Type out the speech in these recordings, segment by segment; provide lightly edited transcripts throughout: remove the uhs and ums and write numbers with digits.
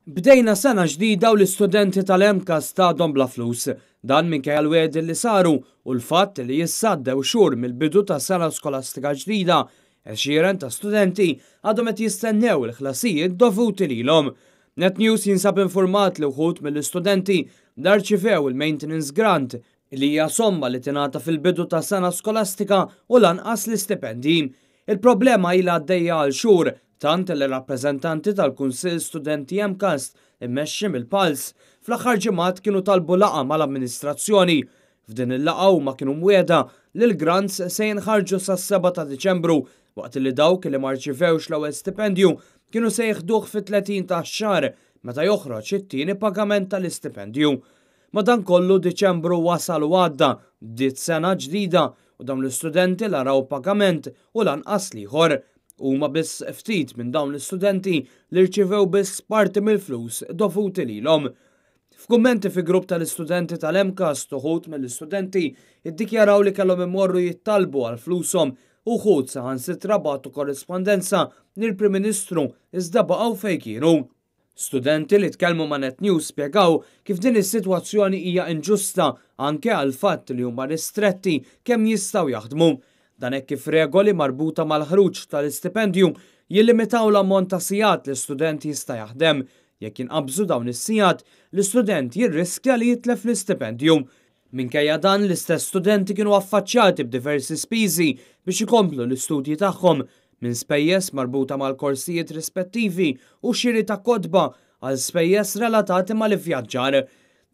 Bdejna sena ġdida u l-istudenti tal-MCAST għadhom bla flus. Dan minkejja l-wegħdi li saru u l-fatt li issa għaddew xhur mill-bidu ta' sena skolastika ġdida. Għexieren ta' studenti għadhom qed jistennew il-ħlasijiet dovuti lilhom. Net News jinsab infurmat li wħud mill-istudenti la rċivew il-maintenance grant, li hija somma li tingħata fil-bidu ta' sena skolastika, u lanqas l-istipendji. Il-problema ilha għaddejja għal xhur, tant li rappreżentanti tal-Kunsill Studenti MCAST immexxi mill-Pulse fl-aħħar ġimgħat kienu talbu laqgħa mal-amministrazzjoni. F'din il-laqgħa huma kienu mwiegħda li l-grants se jinħarġu sas-7 ta' Diċembru, waqt li dawk li ma rċivewx l-ewwel stipendju kienu se jieħduh fit-30 tax-xahar meta joħroġ it-tieni pagament tal-istipendju. Madankollu Diċembru wasal u għadda, bdiet sena ġdida u dawn l-istudenti la raw pagament u lanqas l-ieħor. Huma biss ftit minn dawn l-istudenti li rċivew biss parti mill-flus dovuti lilhom. F'kummenti fi grupp tal-istudenti tal-MCAST, uħud mill-istudenti iddikjaraw li kellhom imorru jittalbu għal flushom. Uħud saħansitra bagħtu korrispondenza lill-Prim Ministru, iżda baqgħu fejn kienu. Studenti li tkellmu ma' Net News spjegaw kif din is-sitwazzjoni hija inġusta, anke għal fatt li huma ristretti kemm jistgħu jaħdmu. Dan hekk kif regoli marbuta mal-ħruġ tal-istipendju jillimitaw l-ammont ta' sigħat li student jista' jaħdem. Jekk jinqabżu dawn is-sigħat, l-istudent jirriskja li jitlef l-istipendju. Minkejja dan, l-istess studenti kienu affaċċjati b'diversi spiżi biex ikomplu l-istudji tagħhom, minn spejjeż marbuta mal-korsijiet rispettivi u xiri ta' kotba għal spejjeż relatati mal-ivvjaġġar.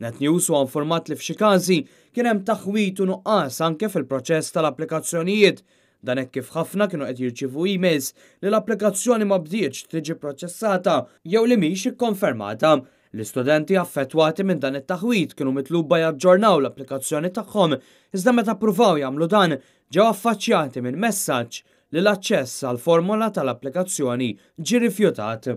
Net News huwa informat li f'xi każi kien hemm taħwit u nuqqas anke fil-proċess tal-applikazzjonijiet. Dan hekk kif ħafna kienu qed jirċievu emails li l-applikazzjoni ma bdietx tiġi proċessata jew li mhix ikkonfermata. L-istudenti affettwati minn dan it-taħwit kienu mitluba jaġġornaw l-applikazzjoni tagħhom, iżda meta ppruvaw jagħmlu dan ġew affaċċjati minn messaġġ li l-aċċess għal formola tal-applikazzjoni ġie rifjutat.